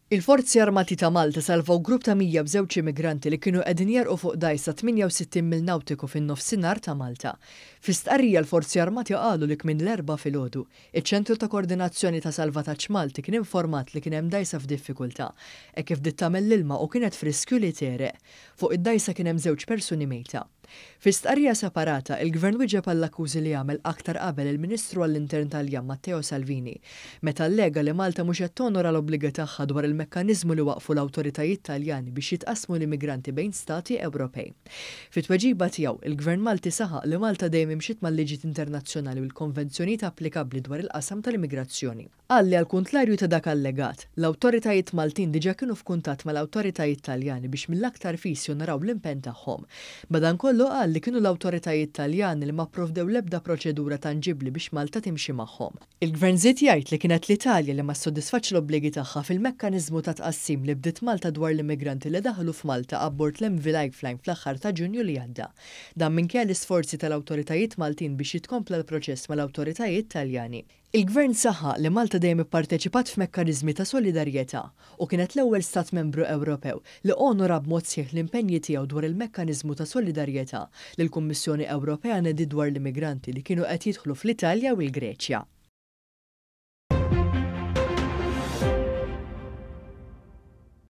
Il-Forzi Armati ta' Malta salvaw grupp ta' 102 immigranti li kienu qegħdin jegħrqu fuq dgħajsa 68 mil nawtiku fin-nofsinhar ta' Malta. Fi stqarrija l-Forzi Armati qalu li kmieni l-Erbgħa filgħodu, iċ-Ċentru ta' Koordinazzjoni ta' Salvataġġ Malti kien informat li kien hemm dgħajsa f'diffikultà, hekk kif bdiet tagħmel l-ilma u kienet f'riskju li tegħreq. Fuq id-dgħajsa kien hemm żewġ persuni mejta. Fi stqarrija separata, il-Gvern wieġeb għall-akkużi li għamel aktar qabel il-Ministru għall-Intern Taljan Matteo Salvini, meta allega li Malta mhux qed tonora l-obbligi tagħha dwar il-mekkaniżmu li waqqfu l-awtoritajiet Taljani biex jitqassmu l-immigranti bejn stati Ewropej. Fi tweġiba tiegħu, il-Gvern Malti saħaq li Malta dejjem imxiet mal-liġijiet internazzjonali u l-konvenzjonijiet applikabbli dwar il-qasam tal-immigrazzjoni. Qal li għall-kuntlarju ta' dak allegat, l-awtoritajiet Maltin diġà kienu f'kuntatt mal-awtoritajiet Taljani biex mill-aktar fis jonoraw l-impenn tagħhom. Madankollu qal li kienu l-awtoritajiet Taljani li ma pprovdew l-ebda proċedura tanġibbli biex Malta timxi magħhom. Il-Gvern żied jgħid li kienet l-Italja li ma ssodisfatx l-obbligi tagħha fil-mekkaniżmu ta' tqassim li bdiet Malta dwar l-immigranti li daħlu f'Malta abbord l-MV Lifeline fl-aħħar ta' Ġunju li għadda. Dan minkejja l-isforzi tal-awtoritajiet Maltin biex jitkompla l-proċess mal-awtoritajiet Taljani. Il-Gvern saħaq li Malta dejjem ipparteċipat f'mekkaniżmi ta' solidarjetà u kienet l-ewwel Stat Membru Ewropew li onora b'mod sħiħ l-impenji tiegħu dwar il-mekkaniżmu ta' solidarjetà li l-Kummissjoni Ewropea nediet dwar l-immigranti li kienu qed jidħlu fl-Italja u l-Greċja.